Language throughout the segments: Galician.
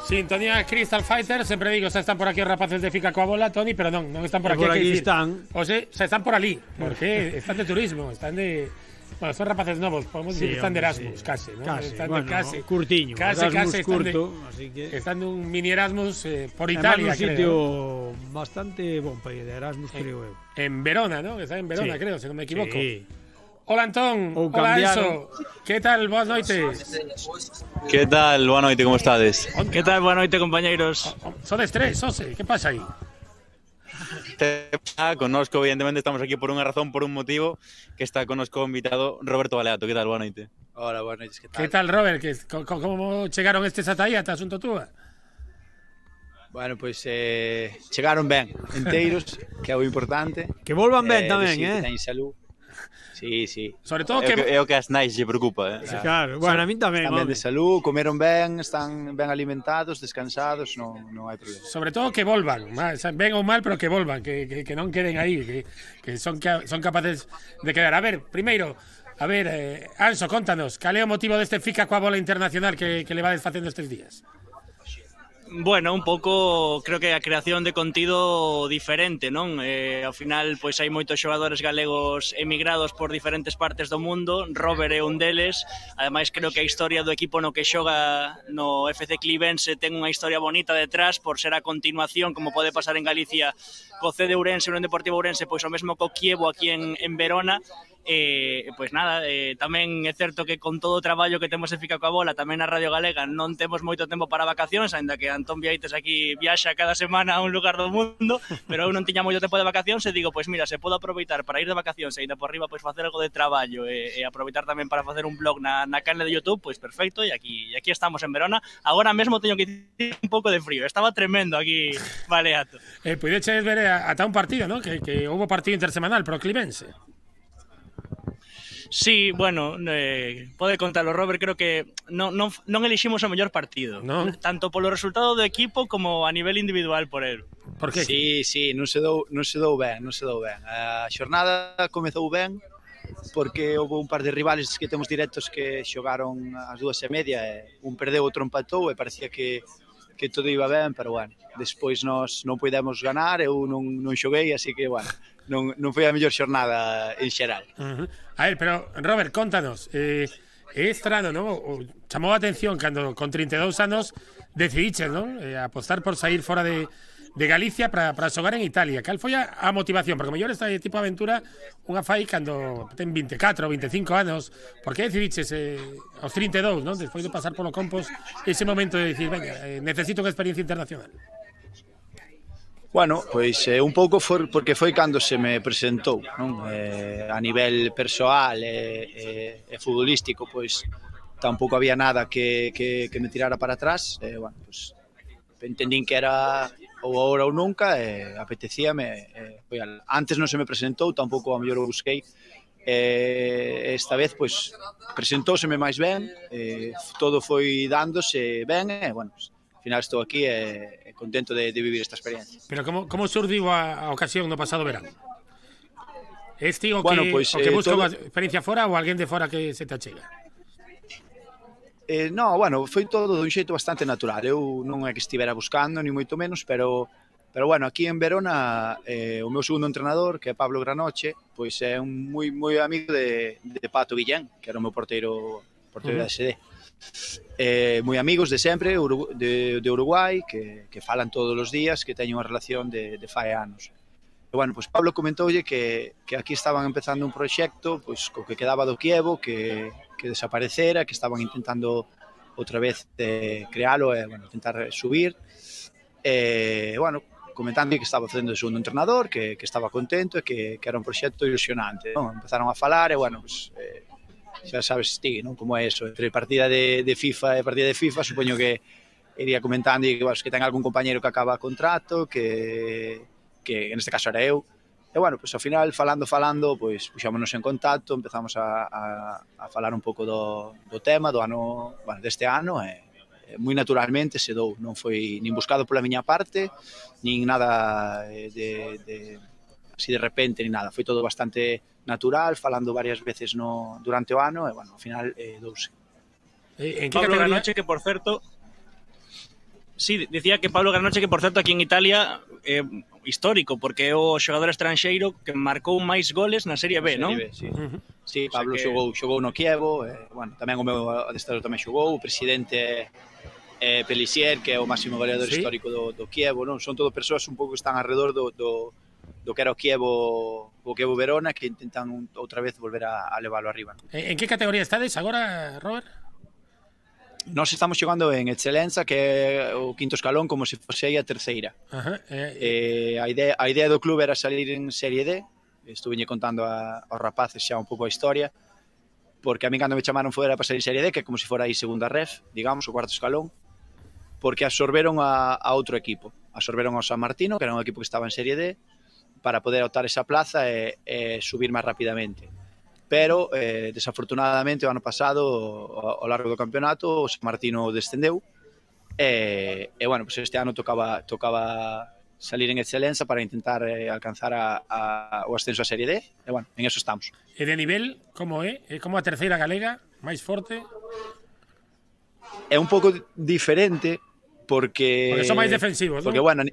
Sintonía Crystal Fighter, sempre digo, xa están por aquí os rapaces de Fica coa bola, Toni, pero non están por aquí. Por aquí están. O sea, están por ali, porque están de turismo, están de... Bueno, son rapaces novos, podemos decir que están de Erasmus, casi, ¿no? Casi, están bueno, de casi. curtiño. Casi, Erasmus están curto, así que... están de un mini Erasmus por Además, Italia, un sitio creo. bastante bon para ir de Erasmus, creo eu. En Verona, ¿no? Está en Verona, Sí. creo, si non me equivoco. Sí. Hola, Antón. Ou Hola, cambiaron. Enzo. Que tal? Boas noites. Que tal? Boa noite, como estades? Que tal? Boa noite, compañeiros. Sodes tres, Ose. Que pasa aí? Conozco, evidentemente, estamos aquí por unha razón, por un motivo, que está connosco o invitado Roberto Baleato. Que tal? Boa noite. Hola, boas noites, que tal? Que tal, Robert? Como chegaron estes ata aí, ata asunto túa? Bueno, pois chegaron ben, enteiros, que é o importante. Que volvan ben tamén, Que teñen salud. Sí, sí. Sobre todo É o que as nais lle preocupa, Sí, claro. Bueno, a min tamén. Están ben de salud, comeron ben, están ben alimentados, descansados, non hai problema. Sobre todo que volvan, ben ou mal, pero que volvan, que non queden aí, que son capaces de quedar. A ver, primeiro, Anso, contanos, cal é o motivo deste Fica coa bola internacional que levades facendo estes días? Bueno, un pouco, creo que a creación de contido diferente, non? Ao final, pois hai moitos xogadores galegos emigrados por diferentes partes do mundo, Robert é un deles, ademais creo que a historia do equipo no que xoga no FC Clivense ten unha historia bonita detrás, por ser a continuación, como pode pasar en Galicia, co CD Ourense, no Deportivo Ourense, pois o mesmo co Kievo aquí en Verona. Pois nada, tamén é certo que con todo o traballo que temos en Fica coa bola, tamén na Radio Galega, non temos moito tempo para vacacións, aínda que Antón Vieites aquí viaxa cada semana a un lugar do mundo, pero eu non tiña moito tempo de vacacións e digo, pois mira, se podo aproveitar para ir de vacacións e ainda por riba pois facer algo de traballo e aproveitar tamén para facer un blog na canle de YouTube, pois perfecto, e aquí estamos en Verona. Agora mesmo teño que ir un pouco de frío, estaba tremendo aquí Baleato. Puideches ver ata un partido, ¿no? Que houve partido intersemanal pro Clivense. Sí, bueno, pode contalo, Robert, creo que non eliximos o mellor partido, ¿No? Tanto polo resultado do equipo como a nivel individual por el. Por que? Sí, non se dou ben. A xornada comezou ben, porque houve un par de rivales que temos directos que xogaron as 2:30 e un perdeu, outro empatou e parecía que todo iba ben, pero bueno, despois nós non podemos ganar, eu non xoguei, así que bueno, non foi a mellor xornada en xeral. A ver, pero Robert, contanos, é estrano, ¿no? Chamou a atención cando con 32 anos decidiches, ¿no? Apostar por sair fora de Galicia para xogar en Italia. Cal foi a motivación? Porque mellor esta tipo de aventura unha fai cando ten 24 ou 25 anos. Por que decidiches aos 32, ¿no? Despois de pasar polo Compos, ese momento de decir, venga, necesito unha experiencia internacional? Bueno, pois un pouco porque foi cando se me presentou, non? A nivel persoal e futbolístico, pois tampouco había nada que me tirara para atrás. Bueno, pois entendín que era ou agora ou nunca, apetecíame. Antes non se me presentou, tampouco a mellor o busquei. Esta vez, pois, presentóuseme máis ben, todo foi dándose ben, e, bueno, pois, ao final estou aquí e contento de vivir esta experiencia. Pero como surdiu a ocasión no pasado verano? Este o Bueno, que, pois, o que busca todo... unha experiencia fora ou alguén de fora que se te achega? No, bueno, foi todo dun xeito bastante natural. Eu non é que estivera buscando, ni moito menos, pero bueno, aquí en Verona o meu segundo entrenador, que é Pablo Granoche, pois é un moi amigo de Pato Guillén, que era o meu porteiro da SD. Moi amigos de sempre, de Uruguai, que falan todos os días, que teñen unha relación de fai anos. E, bueno, pois Pablo comentoulle que aquí estaban empezando un proxecto pois co que quedaba do Kievo, que desaparecera, que estaban intentando outra vez crealo e, bueno, intentar subir. Bueno, comentando que estaba facendo de segundo entrenador, que estaba contento e que era un proxecto ilusionante, non? Empezaron a falar e, bueno, pues, xa sabes ti, non? Como é eso, entre partida de FIFA e partida de FIFA, supoño que iría comentando e que, bueno, que ten algún compañeiro que acaba contrato, que en este caso era eu. E, bueno, pues, ao final, falando, pois, puxámonos en contacto, empezamos a falar un pouco do tema do ano, bueno, deste ano, e moi naturalmente se dou, non foi nin buscado pola miña parte, nin nada así de repente, nin nada, foi todo bastante natural, falando varias veces durante o ano, e, bueno, ao final douse. En Pablo Granoche, que por certo, Sí, dicía que Pablo Granoche, que por certo aquí en Italia histórico, porque é o xogador estranxeiro que marcou máis goles na Serie B, non? Sí, sí, Pablo xogou no Kievo, bueno, tamén o meu adestrador tamén xogou, o presidente Pellissier, que é o máximo goleador histórico do Kievo, non? Son todo persoas un pouco que están alrededor do que era o Kievo Verona, que intentan outra vez volver a leválo arriba. En que categoría estades agora, Robert? Nós estamos xogando en Excelenza, que é o quinto escalón, como se fose aí a terceira. A idea do club era salir en Serie D. Estuveñe contando aos rapaces xa un pouco a historia, porque a mí cando me chamaron fora para salir en Serie D, que é como se fora aí segunda ref, digamos, o cuarto escalón, porque absorberon a outro equipo. Absorberon ao San Martino, que era un equipo que estaba en Serie D, para poder optar esa plaza e subir máis rapidamente. Pero, desafortunadamente, o ano pasado, ao largo do campeonato, o San Martino descendeu, e bueno, pues este ano tocaba salir en Excelenza para intentar alcanzar o ascenso a Serie D, e bueno, en eso estamos. E de nivel, como é? É como a terceira galega, máis forte? É un pouco diferente, porque son máis defensivos, non? Porque, bueno,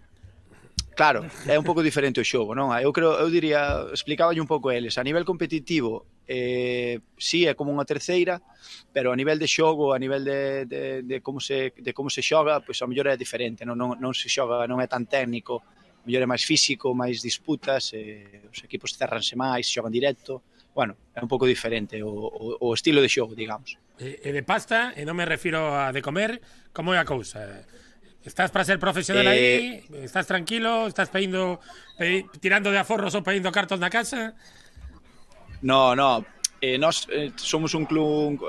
claro, é un pouco diferente o xogo, non? Eu diría, explicaba un pouco eles, a nivel competitivo, sí, é como unha terceira, pero a nivel de xogo, a nivel de como se xoga, pois a mellor é diferente, non se xoga, non é tan técnico, a mellor é máis físico, máis disputas, os equipos cerranse máis, xogan directo, bueno, é un pouco diferente o estilo de xogo, digamos. E de pasta, e non me refiro a de comer, como é a cousa? Estás para ser profesional aí? Estás tranquilo? Estás tirando de aforros ou pedindo cartos na casa? No, nós somos un club,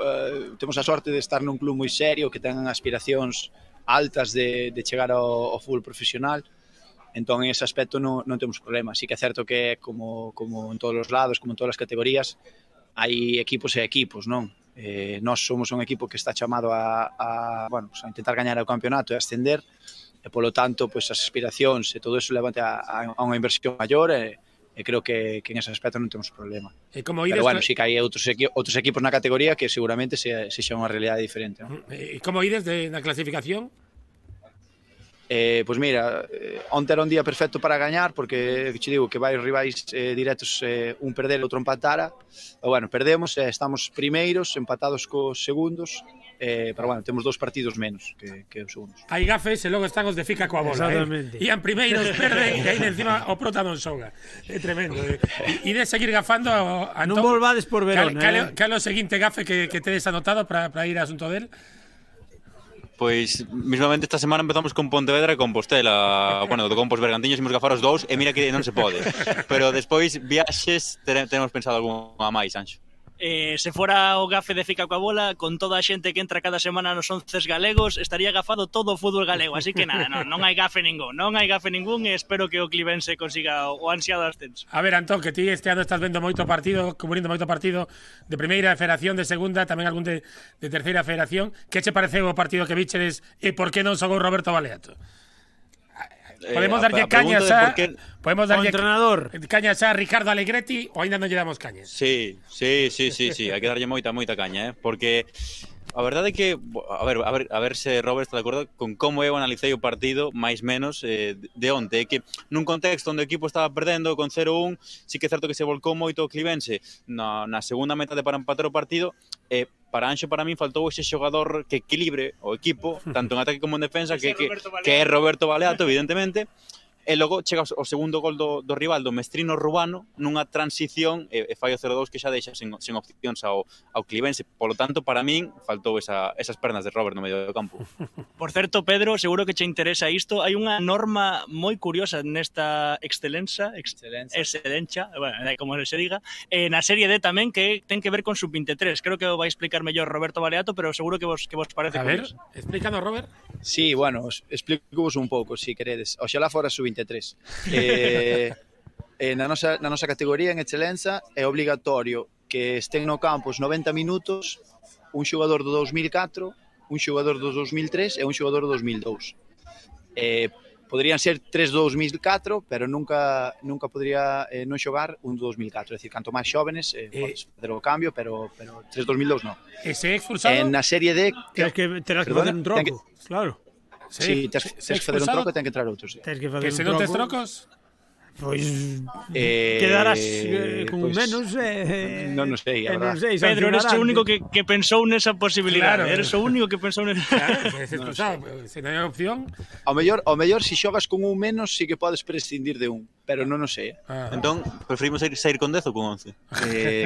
temos a sorte de estar nun club moi serio, que ten aspiracións altas de chegar ao fútbol profesional, entón en ese aspecto non temos problema. Sí que é certo que como en todos os lados, como en todas as categorías, hai equipos e equipos, non? Nós somos un equipo que está chamado a intentar gañar o campeonato e ascender, e polo tanto, pois as aspiracións e todo eso levante a unha inversión maior, e creo que en ese aspecto non temos problema. Pero bueno, sí que hai outros equipos na categoría que seguramente sexa unha realidade diferente, non? E como ides na clasificación? Pois mira, onte era un día perfecto para gañar, porque che digo que varios rivais directos, un perder e outro empatara, e bueno, perdemos, estamos primeiros, empatados cos segundos, pero bueno, temos 2 partidos menos que os segundos. Hai gafes e logo están os de fica coa bola, Ian primeiros, perden, e aí encima o prota non xoga. É tremendo. E de seguir gafando a non volvades por Verona. Cal o seguinte gafe que tedes anotado para ir a asunto del? Pois, mismamente esta semana empezamos con Pontevedra e Compostela. Bueno, do Compos Bergantiños imos gafar os dous, e mira que non se pode. Pero despois, viaxes, tenemos pensado algunha máis, Anxo. Se fora o gafe de Fica coa bola, con toda a xente que entra cada semana nos 11 galegos, estaría gafado todo o fútbol galego, así que nada, non hai gafe ningún, e espero que o Clivense consiga o ansiado ascenso. A ver, Antón, que ti este ano estás vendo moito partido, cubrindo moito partido de primeira federación, de segunda, tamén algún de terceira federación. Que che pareceu o partido que vicheres e por que non xogou Roberto Baleato? Podemos darlle cañas entrenador. Cañas a Ricardo Alegretti, ou ainda non lle damos cañas? Sí, hai que darlle moita caña, porque a verdade é que, a ver se Robert está de acordo con como eu analicei o partido, máis menos, de onte, é que nun contexto onde o equipo estaba perdendo con 0-1, sí que é certo que se volcou moito o Clivense na segunda metade para empatar o partido, e para Anxo, para min, faltou ese xogador que equilibre o equipo, tanto en ataque como en defensa, que é Roberto Baleato, evidentemente. E logo chega o segundo gol do rival, do Mestrino Rubano, nunha transición, e fai o 0-2 que xa deixa sen opcións ao Clivense. Polo tanto, para min, faltou esas pernas de Robert no medio do campo. Por certo, Pedro, seguro que che interesa isto. Hai unha norma moi curiosa nesta Excelenza, bueno, como se diga, na Serie D tamén, que ten que ver con sub-23. Creo que o vai explicar mellor Roberto Baleato, pero seguro que vos parece curioso. A ver, explícanos, Robert. Sí, bueno, explico-vos un pouco, se queredes. Oxalá fora sub-23. Na nosa categoría en Excelenza é obligatorio que estén no campo os 90 minutos un xogador do 2004, un xogador do 2003 e un xogador do 2002. Poderían ser 3 do 2004, pero nunca podría non xogar un do 2004. É dicir, canto máis xóvenes, podes fazer o cambio, pero 3 do 2002 non. E se é expulsado? Na Serie D... Terás que fazer un troco, claro. Sí, tens que facer un troco e ten que entrar outro, sí. Que se non tes trocos? Pois quedarás con pois, menos non sei, a verdad. Pedro, eres o único que pensou nesa posibilidade. Claro. Eres o único que pensou nesa. Claro, se non hai opción. Ao mellor se xogas con un menos sí que podes prescindir de un, pero non o sei. Entón, preferimos sair con 10 ou con 11?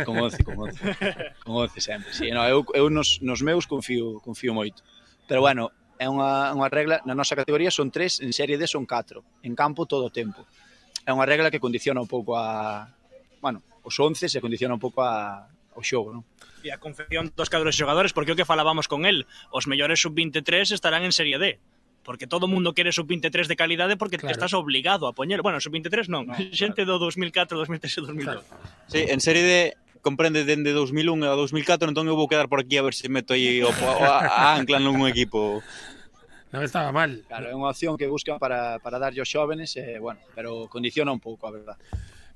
Con 11 sempre. Sí, no, eu nos meus confío moito. Pero bueno, é unha regla, na nosa categoría son 3, en serie D son 4, en campo todo o tempo. É unha regla que condiciona un pouco os 11 se condiciona un pouco ao xogo, non? E a confección dos cadros de xogadores, porque o que falábamos con el, os mellores sub-23 estarán en Serie D. Porque todo o mundo quere sub-23 de calidade porque estás obligado a poñer. Bueno, sub-23 non, xente do 2004, 2003 e 2002. Sí, en Serie D comprende dende 2001 a 2004, entón eu vou quedar por aquí a ver se meto aí a ancla nun equipo. Non estaba mal. Claro, é unha opción que buscan para darlle aos xóvenes, bueno, pero condiciona un pouco, a verdad.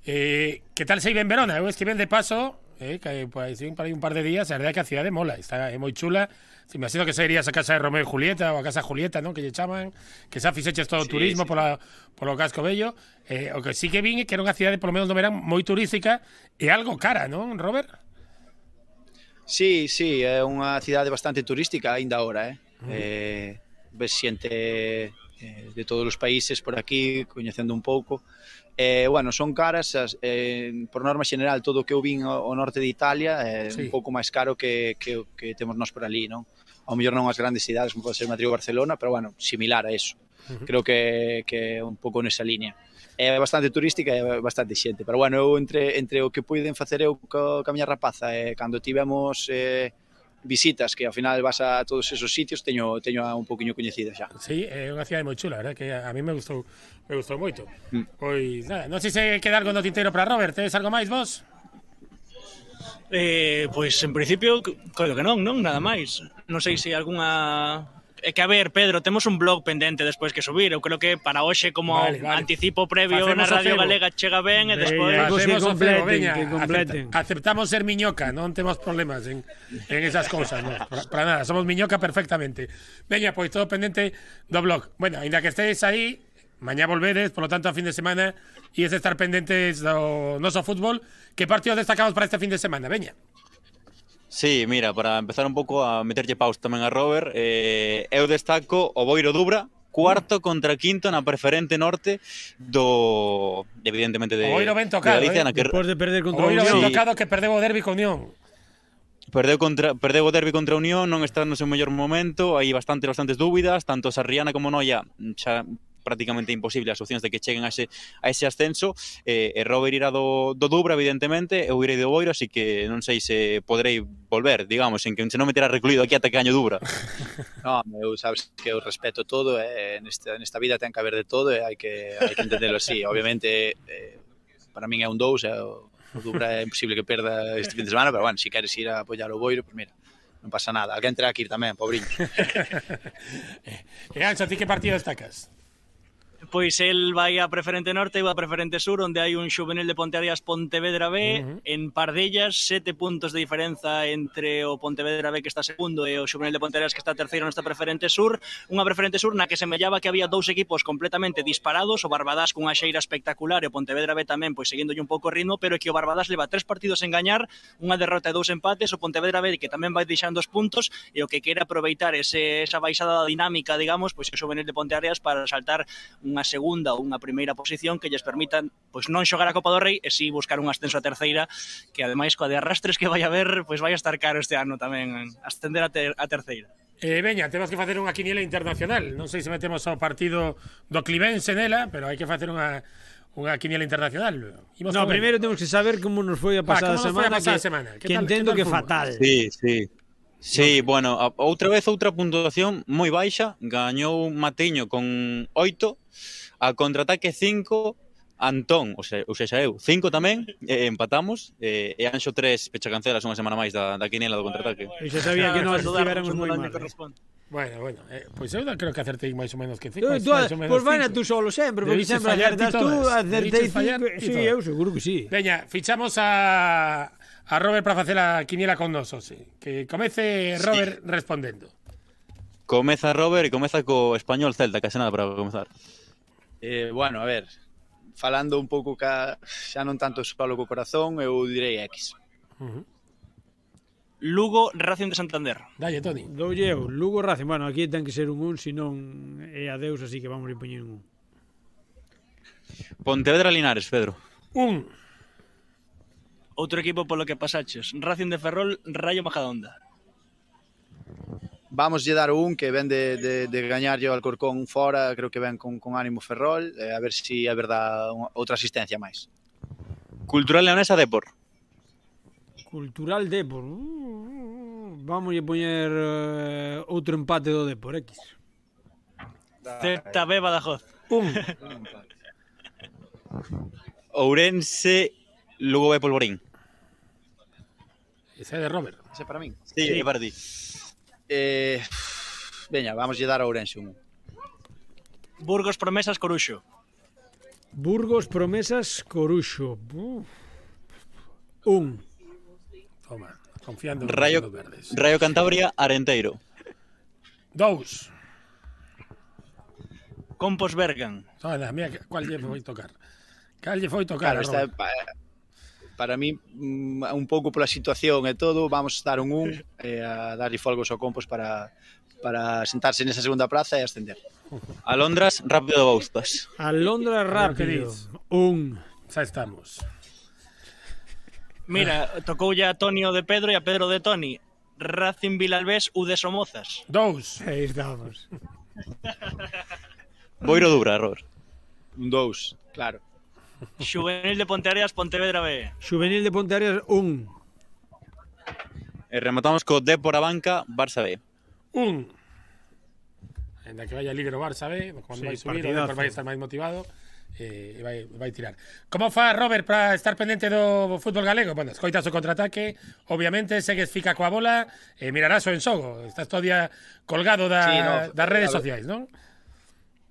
Que tal se iba en Verona? Eu estive de paso, que pues, para un par de días, a verdade que a cidade mola, está moi chula. Se me imagino que se irías a casa de Romeo e Julieta ou a casa Julieta, ¿no? Que lle chaman, que xa fixeches todo o turismo polo casco bello. O que sí que vin é que era unha cidade, polo menos no verán, moi turística e algo cara, non, Robert? Sí, é unha cidade bastante turística aínda agora, ves xente de todos os países por aquí, coñecendo un pouco. Bueno, son caras, por norma xeral, todo o que eu vin ao norte de Italia é un pouco máis caro que temos nós por ali, non? Ao mellor non as grandes cidades, como pode ser Madrid ou Barcelona, pero, bueno, similar a eso. Creo que é un pouco nesa línea. É bastante turística e bastante xente, pero, bueno, eu entre o que puiden facer eu ca miña rapaza cando tivemos visitas, que ao final vas a todos esos sitios, teño un poquinho coñecida xa. Sí, é unha cidade moi chula, verdad, que a mí me gustou moito. Pois nada, non sei se queda algo no tintero para Robert, tes algo máis vos? Pois en principio, creo que non, nada máis. Non sei se algunha... É que, a ver, Pedro, temos un blog pendente despois que subir. Eu creo que para hoxe, como anticipo previo na Radio Galega, chega ben e despois... Facemos o cebo, veña, aceptamos ser miñoca, non temos problemas en esas cousas, non, para nada, somos miñoca perfectamente. Veña, pois todo pendente do blog. Bueno, ainda que estéis aí, mañá volvedes, por lo tanto, a fin de semana, e es estar pendentes do noso fútbol. Que partidos destacamos para este fin de semana? Veña. Sí, mira, para empezar un pouco a meterlle paus tamén a Robert, eu destaco o Boiro Dubra, cuarto contra quinto na preferente norte evidentemente de Galicia, na que despois de perder contra o Boiro ben tocado, que perdeu o derbi con Unión. Perdeu o derbi contra Unión, non está no seu mellor momento, hai bastantes dúbidas, tanto Sarriana como Noia xa prácticamente imposible as opcións de que cheguen a ese ascenso. Robert irá do Dubra, evidentemente, eu irei do Boiro, así que non sei se poderei volver, digamos, en que se non me terá recluído aquí ata que gaño Dubra. No, eu sabes que eu respeto todo, nesta vida ten que haber de todo e hai que entenderlo así. Obviamente, para min é un 2, o Dubra é imposible que perda este fin de semana, pero, bueno, se queres ir a apoiar o Boiro, pues mira, non pasa nada. Alguén terá que ir tamén, pobriños. E Anxo, ti que partido destacas? Pois el vai a Preferente Norte e vai a Preferente Sur, onde hai un xuvenil de Ponteareas Pontevedra B, en Pardellas, 7 puntos de diferenza entre o Pontevedra B que está segundo e o xuvenil de Ponteareas que está terceiro nesta Preferente Sur, unha Preferente Sur na que semellaba que había dous equipos completamente disparados, o Barbadás cunha xeira espectacular e o Pontevedra B tamén, pois seguíndolle un pouco o ritmo, pero que o Barbadás leva 3 partidos en gañar, unha derrota e 2 empates, o Pontevedra B que tamén vai deixando os puntos e o que quere aproveitar esa baixada dinámica, digamos, pois o xuvenil de Ponteareas para saltar unha segunda ou unha primeira posición que lles permitan pois non xogar a Copa do Rei e si buscar un ascenso a terceira, que ademais coa de arrastres que vai haber, pois vai a estar caro este ano tamén ascender a terceira. Veña, temos que facer unha quiniela internacional. Non sei se metemos ao partido do Clivense nela, pero hai que facer unha quiniela internacional. No, primeiro temos que saber como nos foi a pasada semana, que entendo que fatal. Sí, bueno, outra puntuación moi baixa, gañou Matiño con 8, a contraataque 5, Antón, ou seja, eu 5 tamén, empatamos, e Anxo 3, pecha cancelas unha semana máis da quiniela do contraataque. Eu xa sabía que nós estivéramos moi mal. Bueno, pois eu creo que acertei máis ou menos que 5. Pois vai na tú solo sempre, porque sempre acertas tú, acertei 5. Sí, eu seguro que sí. Veña, fichamos a Robert para facer a quiniela con nosos, sí. Que comece Robert respondendo. Comeza Robert e comeza co Español Celta, case nada para comezar. Bueno, a ver, falando un pouco xa non tanto só co corazón, eu direi X. Lugo, Racing de Santander. Dalle, Toni. Doulle eu, Lugo Racing. Bueno, aquí ten que ser un 1, senón é adeus, así que vamos a poñer un 1. Pontevedra Linares, Pedro. 1. Outro equipo polo que pasaches. Racing de Ferrol, Rayo Majadahonda. Vamos lle dar un que ven de gañarlle ao Alcorcón fora, creo que ven con ánimo Ferrol, a ver se é verdad outra asistencia máis. Cultural Leonesa, Depor. Cultural Depor. Vamos a poñer outro empate do Depor, X. ZB Badajoz. 1. Ourense, Lugo B Polvorín. Ese é de Robert. Ese para min? Sí, para ti. Veña, vamos lle dar a Ourense un. Burgos Promesas, Coruxo. Burgos Promesas, Coruxo. 1. Toma, confiando Rayo, nos verdes. Rayo Cantabria, Arenteiro. 2. Compos Bergan. Toma, mira, cuál lle foi tocar. Cal lle foi tocar, Claro, para mí, un pouco pola situación e todo, vamos dar un 1 a darlle folgos ao Compos para sentarse nesa segunda praza e ascender. Alondras, Rápido de Bouzas. Alondra Rápido. 1. Xa estamos. Mira, tocoulle a Toni o de Pedro e a Pedro de Toni. Racing Vilalbés, U de Somozas. 2. Aí estamos. Boiro Dubra, Robert. Un 2, claro. Xuvenil de Ponteareas, Pontevedra B. Juvenil de Ponteareas, 1. E rematamos co Depor a banca, Barça B. 1. Ainda que vaya líder o Barça B, cando vai subir, o Depor vai estar máis motivado e vai tirar. Como fa Robert para estar pendente do fútbol galego? Bueno, escoitas o contraataque, obviamente segues fica coa bola e mirarás o enxogo. Estás todo día colgado das redes sociais, non?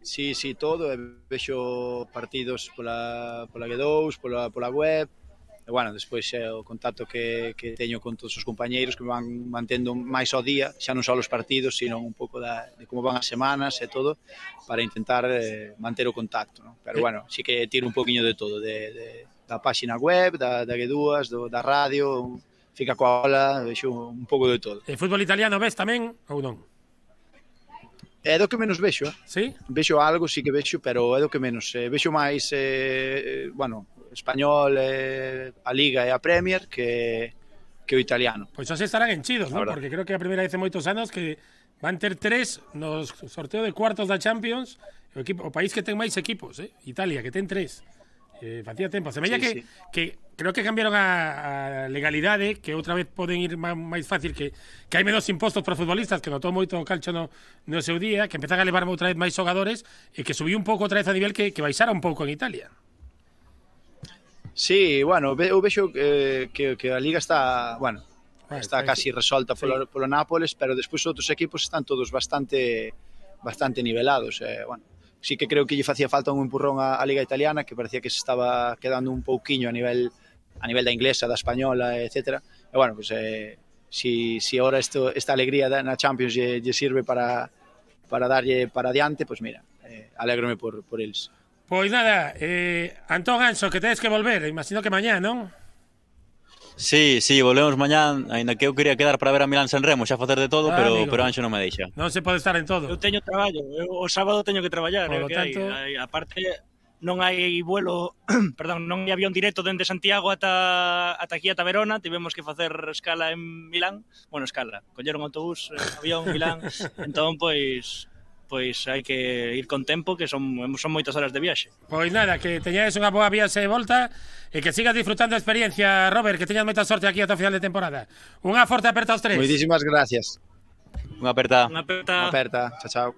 Sí, todo, vexo partidos pola G2, pola web, e bueno, despois o contacto que teño con todos os compañeiros que me van mantendo máis ao día, xa non só os partidos, sino un pouco de como van as semanas e todo, para intentar manter o contacto, ¿no? Pero bueno, sí que tiro un poquinho de todo, da páxina web, da G2, da radio, fica coa ola, vexo un pouco de todo. E fútbol italiano ves tamén ou non? É do que menos vexo, Sí? Vexo algo, sí que vexo, pero é do que menos. Vexo máis, bueno, español, a Liga e a Premier que o italiano. Pois xa se estarán enchidos, non? Verdad. Porque creo que é a primeira vez en moitos anos que van ter 3 no sorteo de cuartos da Champions, o país que ten máis equipos, Italia, que ten 3. Facía tempo. Semella que creo que cambiaron a legalidade, que outra vez poden ir máis fácil, que hai menos impostos para futbolistas, que notou moito o calcio no seu día, que empezan a levar outra vez máis xogadores e que subiu un pouco outra vez a nivel que baixara un pouco en Italia. Sí, bueno, eu vexo que a Liga está, bueno, está casi resolta polo Nápoles, pero despois outros equipos están todos bastante nivelados, bueno. Sí que creo que lle facía falta un empurrón á Liga Italiana, que parecía que se estaba quedando un pouquiño a nivel da inglesa, da española, etc. E bueno, pues, si ahora esta alegría na Champions lle sirve para darlle para adiante, pues mira, alégrome por eles. Pois nada, Antón Anxo, que tedes que volver, imagino que mañá, non? Sí, volvemos mañán, aínda que eu quería quedar para ver a Milán Sanremo, xa facer de todo, pero Anxo non me deixa. Non se pode estar en todo. Eu teño traballo, o sábado teño que traballar, Por lo tanto, aparte non hai vuelo, perdón, non hai avión directo dende Santiago ata aquí ata Verona, tivemos que facer escala en Milán, colleron autobús, avión Milán, entón pois hai que ir con tempo, que son moitas horas de viaxe. Pois nada, que teñades unha boa viaxe de volta e que sigas disfrutando a experiencia, Robert, que teñas moita sorte aquí ata o final de temporada. Unha forte aperta aos 3. Moitísimas gracias. Unha aperta. Unha aperta. Chao.